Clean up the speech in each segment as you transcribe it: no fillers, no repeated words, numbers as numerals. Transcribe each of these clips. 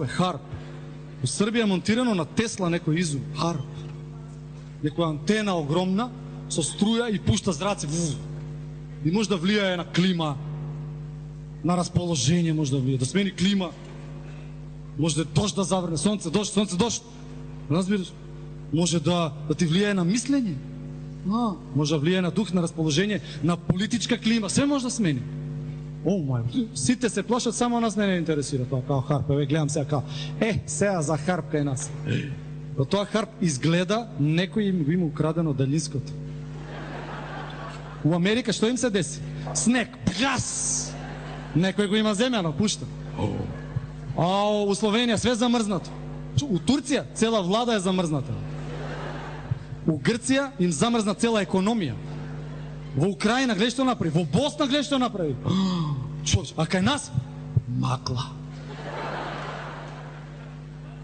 харп. У Србија е монтирано на Тесла некој изум, харп. Некоја антена огромна, со струја и пушта зраци. И може да влијае на клима, на расположение може да влијае, да смени клима. Може да дожд да заврне, сонце, дожд. Разбираш? Може да ти влијае на мислење. Може да влијае на дух, на расположение, на политичка клима, се може да смени. О, мај, сите се плашат, само нас не интересира тоа, као харп. Еве гледам сега као, сега за харп кај нас. Тоа харп изгледа, некој им го има украдено далинското. У Америка што им се деси? Снег, бгас! Некој го има земјано, пушта. У Словенија све замрзнато. У Турција цела влада е замрзната. У Грција им замрзна цела економија. Во Украина гледа што направи, во Босна гледа што направи. А кај нас магла.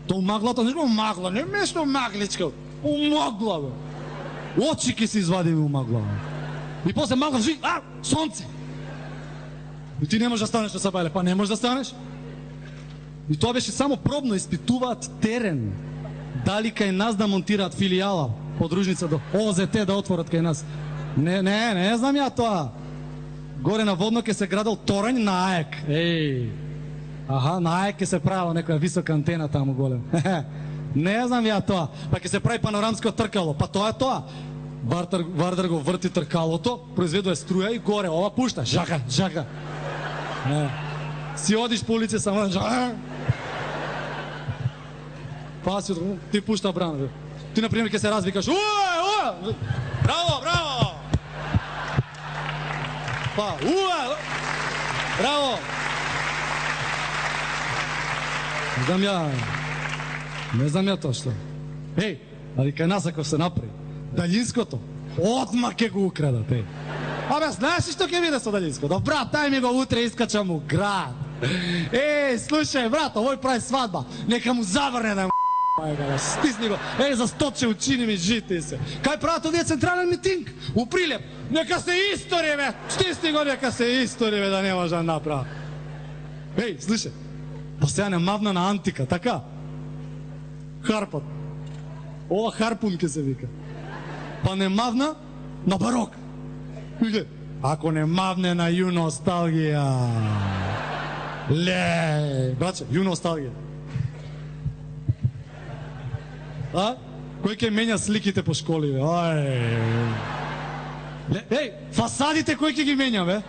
То маглата не магла, не место магличка. Магла, бе. Очи ки се извадиме у магла. И после магла жи, сонце. И ти не можеш да станеш на Сабајле, па не можеш да станеш. И тоа беше само пробно, испитуваат терен. Дали кај нас да монтираат филијала, подружница до ОЗТ да отворат кај нас. Не знам ја тоа. Горе на Водно ке се градел торањ на АЕК. На АЕК ке се правила некоја висока антена таму голем. Не знам ја тоа. Па ке се прави панорамско тркало. Па тоа е тоа. Вардар го врти тркалото, произведува струја и горе ова пушта. Жака. Си одиш по улице само па си ти пушта брана. Ти на пример ке се развикаш. Браво! Па, браво! Не знам ја тоа што. Али кај нас ако се направи далинското, одма ке го украдат, знаеш што ќе биде со далинското? Брат, дај ми го утре, искачам у град. Слушај, брат, овој прави свадба, нека му заврне да стисни го, засточе учини ми жити се. Кај прават овие централен митинг? У Прилеп, нека се истори, бе, стисни го, нека се истори, бе, да не може да направи. Слушај, па сега не мавна на антика, така? Харпот. Ова харпун ке се вика. Па не мавна на барок. Ако не мавне на ю носталгија. Браце, ю носталгија. Кој ќе менја сликите по школи, бе? Фасадите кој ќе ги менја, бе?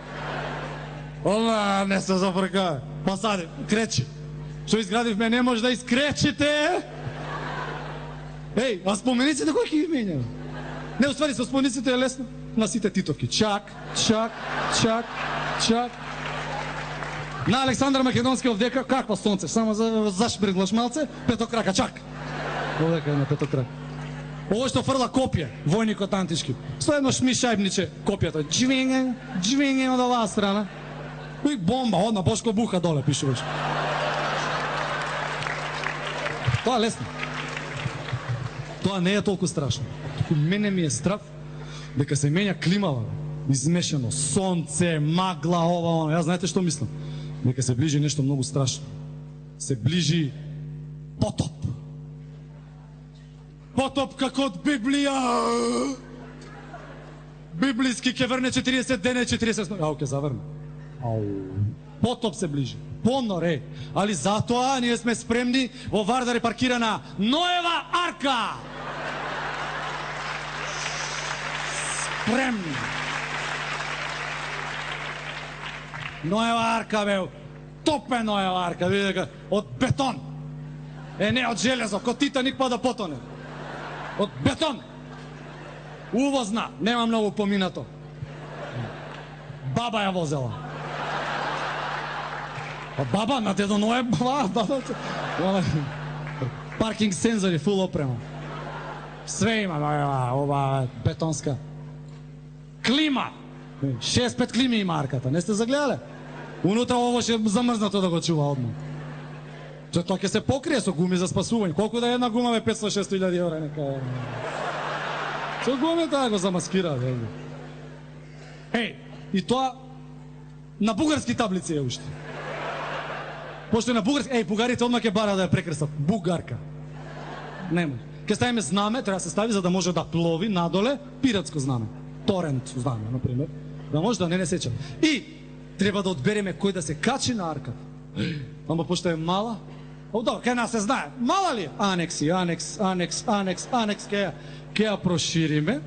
Не се зафрка. Фасади, кречи. Што изградивме, не може да искречите. А спомениците кој ќе ги менја? Не, уствари, со спомениците е лесно. На сите титовки. Чак. На Александар Македонски овдека, каква сонце, само зашбрглаш малце, петокрака, чак. Овдека е на петокрак. Ово што фрла копје, војникот антички. Со едно шмишајбниче копјето. Джвинге од оваа страна. И бомба, одна Бошко Буха доле, пишуваш. Тоа лесно. Тоа не е толку страшно. Мене ми е страв дека се менја климава, измешано, сонце, магла, ова, јас знаете што мислам? Дека се ближи нешто многу страшно. Се ближи потоп. Потоп како од Библија. Библиски ќе врне 40 дена и 40 ноќи. Ке заврне. Потоп се ближи. Понор е. Али затоа ние сме спремни во Вардар е паркирана Ноева арка. Спремни. Ноева арка, бе. Топе Ноева арка, видите, од бетон. Не од железо, ко Титаник па да потоне. Од бетон. Увозна, нема многу поминато. Баба ја возела. Баба на дедо Ное, баба. Паркинг сензори, фул опрема. Све има, ова бетонска. Клима. 6-5 клими има арката, не сте загледале? Унутра ово ше замрзнато да го чува одма. Тоа ќе се покрие со гуми за спасување. Колку да една гума бе 500-600 евра, нека. Со гуми таа го замаскира, бе. И тоа на бугарски таблици е уште. Пошто е на бугарски, бугарите одма ќе бара да ја прекрстат. Бугарка. Не може. Ке ставиме знаме, треба да се стави за да може да плови надоле пиратско знаме. Торент знаме, например. Да може да не сеча. И треба да одбереме кој да се качи на арката. Ама пошто е мала, добро, кај нас се знае. Мала ли е? Анекси, анекс, ке ја прошириме.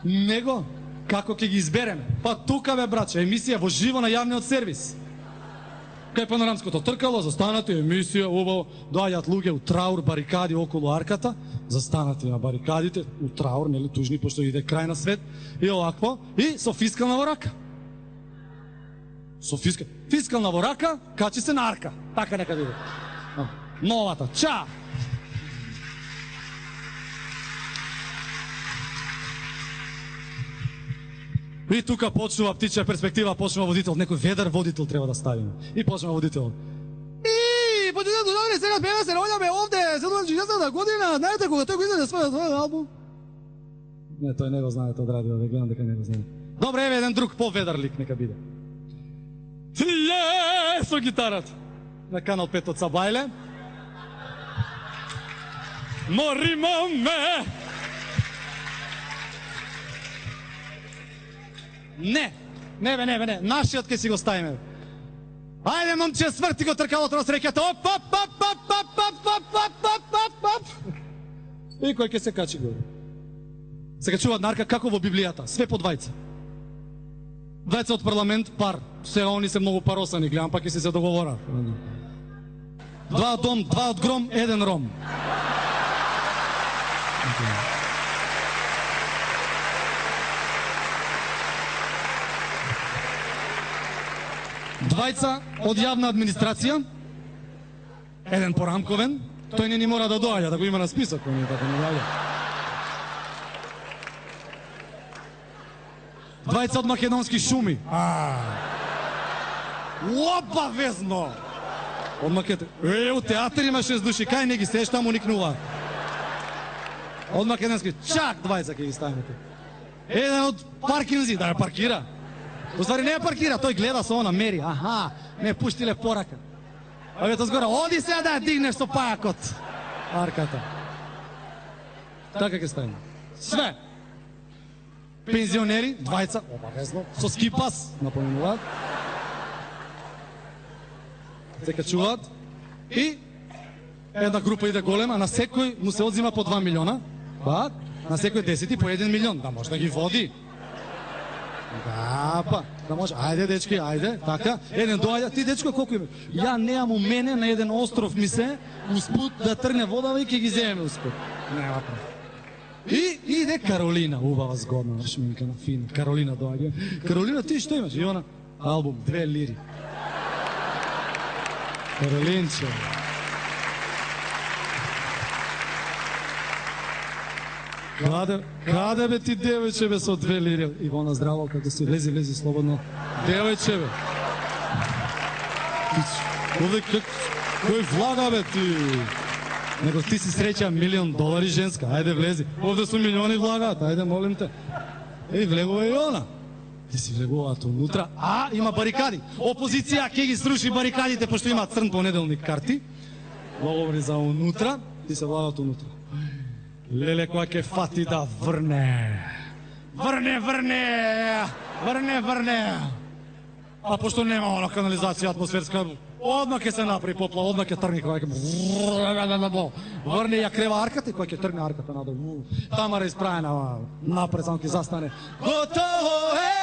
Него, како ќе ги избереме? Па тука бе, браче, емисија во живо на јавниот сервис. Кај панорамското тркало, застанати, емисија, убаво, доаѓаат луѓе у траур, барикади околу арката, застанати на барикадите, у траур, нели, тужни, пошто иде крај на свет, и овакво, и со фискална во рака. Фискална во рака, качи се на арка. Така нека биде. Новата. Ча! И тука почнува птичја перспектива, почнува водител, некој ведар водител треба да ставиме. И почнува водител. И почнува добре, сега пева се роѓаме овде, 70 година, знаете кога тој го издаде својот албум? Не, тој не го знаете од радио, ве гледам дека не го знаете. Добре, еве еден друг поведар лик нека биде. Со гитарата на Канал 5 од Сабајле. Морима ме. Не, нашиот ке си го ставиме. Ајде, момче, сврти го тркалото на среќата. Оп. И кој ке се качи горе? Се качуваат нарка како во Библијата, све по двајца. Двајца од парламент, пар. Се они се многу паросани, гледам, пак и се договора. Два од дом, два од гром, еден ром. Двајца од јавна администрација, еден порамковен, тој не ни мора да доаѓа, да го има на список, кој не така не доаѓа. Двајца од македонски шуми. Опа, везно! Од македонски... у театар има 6 души, кај не ги сеш, таму никнува. Од македонски, чак двајца ќе ги ставиме. Еден од паркинзи, да ја паркира. Уствари не ја паркира, тој гледа со она, мери. Аха, не пуштиле порака. А вето згора, оди се да ја дигнеш со пајакот. Арката. Така ќе ставиме. Све. Пензионери, двајца, обавезно, со скипас, напоминуваат. Се качуваат. И една група иде голема, на секој му се одзима по 2 милиона. Па, на секој 10 по 1 милион, да може да ги води. Да може. Ајде, дечки, ајде, така. Еден доаѓа, ти дечко колку има? Ја неам у мене на еден остров ми се, успут да тргне водава и ќе ги земеме успут. Нема прав. И иде Каролина, убава згодна, шминка на фин. Каролина доаѓа. Каролина, ти што имаш? И она, албум, 2 лири. Каролинче. Каде бе ти, девојче, бе, со 2 лири? Ивона, здраво, како си, лези, слободно. Девојче, бе. Овде, кој влага, бе, ти? Него ти си среќа $1,000,000 женска, ајде влези. Овде су милиони влагаат, ајде молим те. Влегува и она. Ти си влегуваат унутра, има барикади. Опозиција ќе ги сруши барикадите, пошто има црн понеделник карти. Говори за унутра, ти се влагаат унутра. Леле, која ќе фати да врне. Врне. А пошто нема она канализација атмосферска, одма ќе се направи поплава, одма ќе тргне која ќе... Врне ја крева арката и која ќе тргне арката надолу. Тамара испрајена напред, само ќе застане. Готово е!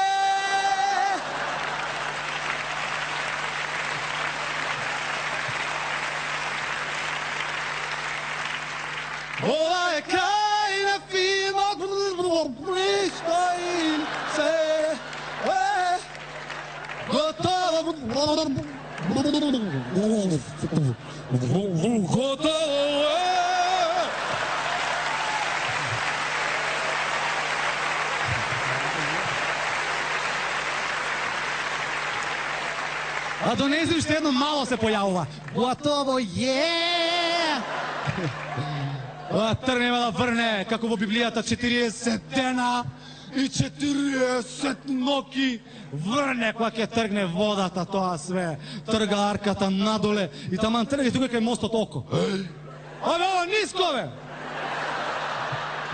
Ова е крај на филмот, стои се, готово, готово е. А до нејзи уште едно мало се појавува. Готово е! Тргнеме да врне, како во Библијата, 40 дена и 40 ноки врне кога ќе тргне водата, тоа све трга арката надоле и таман трга и тука кај мостот око. Абе, ова ниско, бе!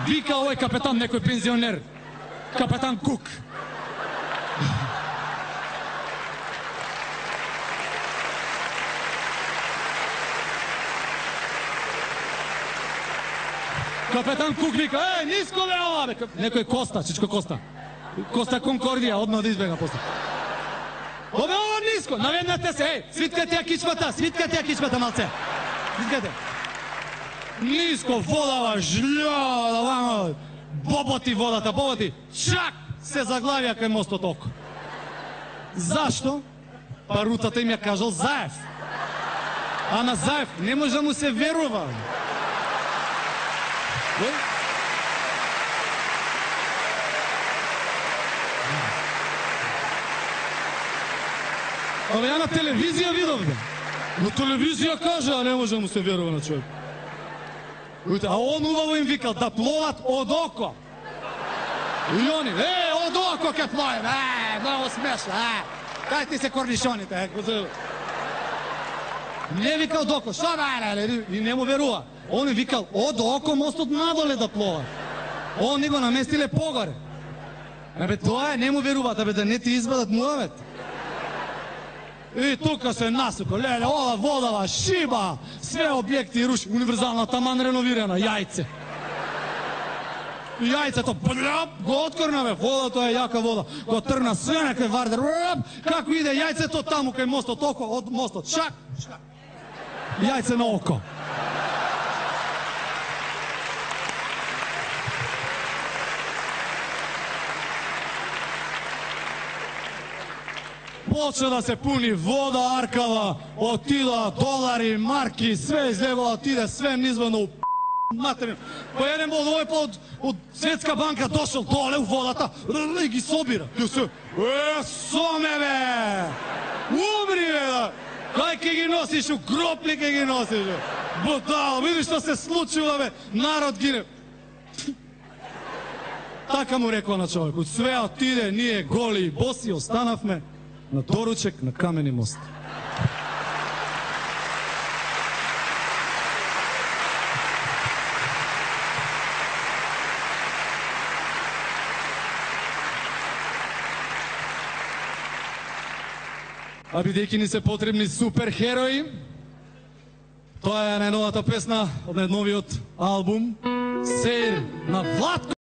Вика овој капетан, некој пензионер. Капетан Кук. Капетан Кук вика, ниско бе ова, бе! Некој Коста, Чичко Коста. Коста Конкордија, одма да избега после. Обе ова ниско, наведнате се, свиткате ја кичмата малце. Свиткате. Ниско, водава, жља, вамо, боботи водата, боботи. Чак се заглавија кај мостот око. Зашто? Па рутата им ја кажал Заев. А на Заев не може да му се верува. Абе, ја на телевизија видов, бе. На телевизија кажа, а не може да му се верува на човек. А он убаво им викал да пловат од око. И они, од око ке пловим, много смешно, Кај ти се корнишоните, Не викал од око, што бе, и не му верува. Он им викал од око мостот надоле да плова. Он ни го наместиле погоре. Абе, тоа не му веруваат, абе, да не ти избадат муавет. И тука се насука, леле, ова водава, шиба, све објекти руши, универзална, таман реновирана, јајце. И јајцето, го откорна, бе, вода, тоа е јака вода, го тргна све некој вардер, како иде јајцето таму кај мостот, око, од мостот, шак, јајце на око. Почна да се пуни вода, аркава, отида долари, марки, све излегува, отиде све низвано у материн. По еден од овој од Светска банка дошол доле у водата и ги собира. Соме, бе! Умри, бе! Кај ке ги носиш, у гробли ке ги носиш, бе! Будало, видиш што се случува, бе! Народ гине. Така му рекла на човекот. Све отиде, ние голи и боси останавме на доручек на камени мост. А бидејќи ни се потребни суперхерои, тоа е најновата песна од најновиот албум Сеир на Владко